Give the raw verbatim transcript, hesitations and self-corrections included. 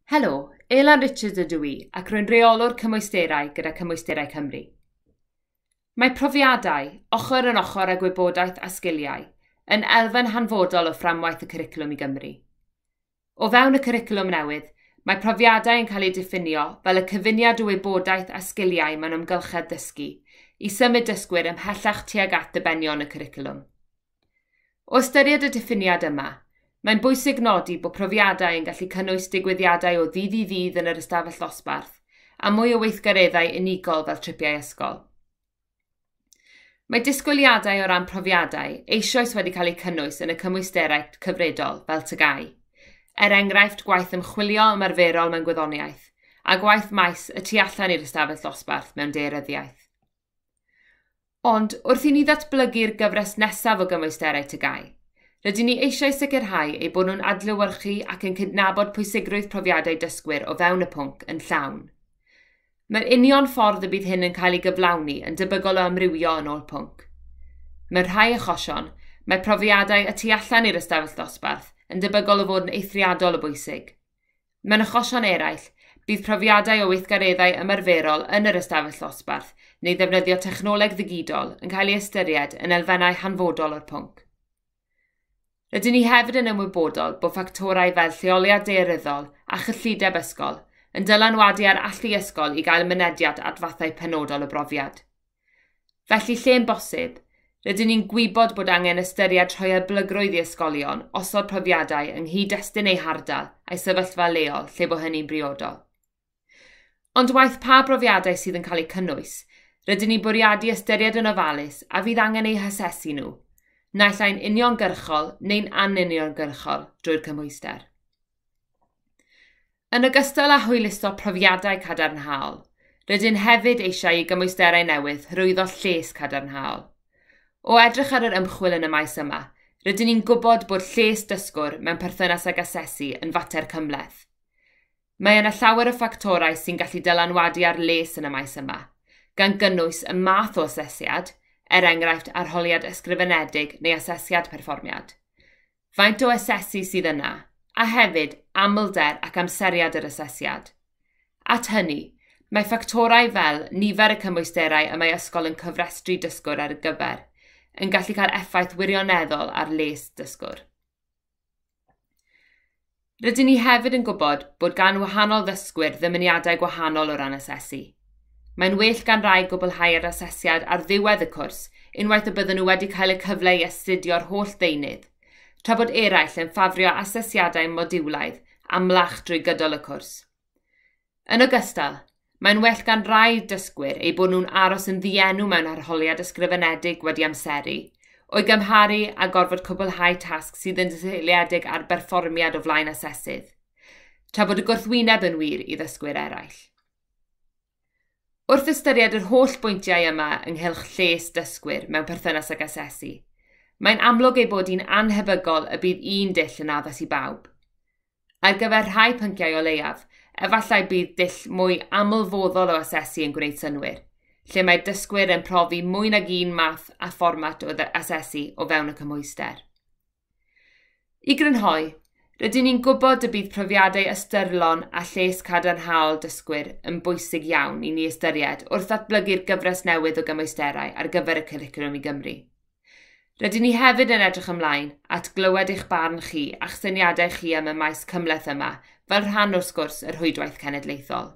Helo, Elan Richards ydw i ac rwy'n reolwr cymwysterau gyda Cymwysterau Cymru. Mae profiadau, ochr yn ochr â gwybodaeth a sgiliau, yn elfen hanfodol o fframwaith y cwricwlwm i Gymru. O fewn y cwricwlwm newydd, mae profiadau yn cael eu diffinio fel y cyfuniad o wybodaeth a sgiliau mewn amgylchedd dysgu i symud dysgwyr ymhellach tuag at ddibenion y cwricwlwm. O ystyried y diffiniad yma, mae'n bwysig nodi bod profiadau yn gallu cynnwys digwyddiadau o ddydd i ddydd yn yr ystafell ddosbarth a mwy o weithgareddau unigol fel tripiau ysgol. Mae disgwyliadau o ran profiadau eisoes wedi cael eu cynnwys yn y cymwysterau cyfredol fel T G A U, er enghraifft gwaith ymchwilio ymarferol mewn gwyddoniaeth a gwaith maes y tu allan i'r ystafell ddosbarth mewn daearyddiaeth. Ond wrth i ni ddatblygu'r gyfres nesaf o gymwysterau T G A U, rydyn ni eisiau sicrhau eu bod nhw'n adlewyrchu ac yn cydnabod pwysigrwydd profiadau dysgwyr o fewn y pwnc yn llawn. Mae'r union ffordd y bydd hyn yn cael ei gyflawni yn debygol o amrywio yn ôl pwnc. Mewn rhai achosion, mae profiadau y tu allan i'r ystafell ddosbarth yn debygol o fod yn eithriadol o bwysig. Mewn achosion eraill, bydd profiadau o weithgareddau ymarferol yn yr ystafell ddosbarth neu ddefnyddio technoleg ddigidol yn cael ei ystyried yn elfennau hanfodol o'r pwnc. Rydyn ni hefyd yn ymwybodol bod ffactorau fel lleoliad daearyddol a chyllideb ysgol yn dylanwadu ar allu ysgol i gael mynediad at fathau penodol o brofiad. Felly lle'n bosib, rydyn ni'n gwybod bod angen ystyried rhoi hyblygrwydd i ysgolion osod profiadau yng nghyd-destun eu hardal a'i sefyllfa leol lle bo hynny'n briodol. Ond waeth pa brofiadau sydd yn cael eu cynnwys, rydyn ni'n bwriadu ystyried yn ofalus a fydd angen eu hasesu nhw, naill ai'n uniongyrchol neu'n anuniongyrchol drwy'r cymhwyster. Yn ogystal â hwyluso profiadau cadarnhaol, rydyn hefyd eisiau i gymwysterau newydd hyrwyddo lles cadarnhaol. O edrych ar yr ymchwil yn y maes yma, rydyn ni'n gwybod bod lles dysgwr mewn perthynas ag asesu yn fater cymhleth. Mae yna llawer o ffactorau sy'n gallu dylanwadu ar les yn y maes yma, gan gynnwys y math o asesiad, er enghraifft arholiad ysgrifenedig neu asesiad perfformiad. Faint o asesu sydd yna, a hefyd amlder ac amseriad yr asesiad. At hynny, mae ffactorau fel nifer y cymwysterau y mae ysgol yn cyfrestru dysgwr ar y gyfer, yn gallu cael effaith wirioneddol ar les dysgwr. Rydyn ni hefyd yn gwybod bod gan wahanol ddysgwyr ddymuniadau gwahanol o ran asesu. Mae'n well gan rai gwblhau'r asesiad ar ddiwedd y cwrs unwaith y bydden nhw wedi cael y cyfle i astudio'r holl ddeunydd, tra bod eraill yn ffafrio asesiadau modiwlaidd amlach drwy gydol y cwrs. Yn ogystal, mae'n well gan rai dysgwyr eu bod nhw'n aros yn ddienw mewn arholiad ysgrifenedig wedi amseru, o'i gymharu a gorfod cwblhau tasg sydd yn seiliedig ar berfformiad o flaen asesydd, tra bod y gwrthwyneb yn wir i ddysgwyr eraill. Wrth ystyried yr holl bwyntiau yma ynghylch lles dysgwyr mewn perthynas ag asesu, mae'n amlwg ei bod hi'n annhebygol y bydd un dull yn addas i bawb. Ar gyfer rhai pynciau o leiaf, efallai bydd dull mwy amlfoddol o asesu yn gwneud synnwyr, lle mae dysgwyr yn profi mwy nag un math a fformat o asesu o fewn y cymhwyster. I grynhoi, rydyn ni'n gwybod y bydd profiadau ystyrlon a lles cadarnhaol dysgwyr yn bwysig iawn i ni ystyried wrth ddatblygu'r gyfres newydd o gymwysterau ar gyfer y cwricwlwm i Gymru. Rydyn ni hefyd yn edrych ymlaen at glywed eich barn chi a'ch syniadau chi am y maes cymhleth yma fel rhan o'r sgwrs yr Rhwydwaith Cenedlaethol.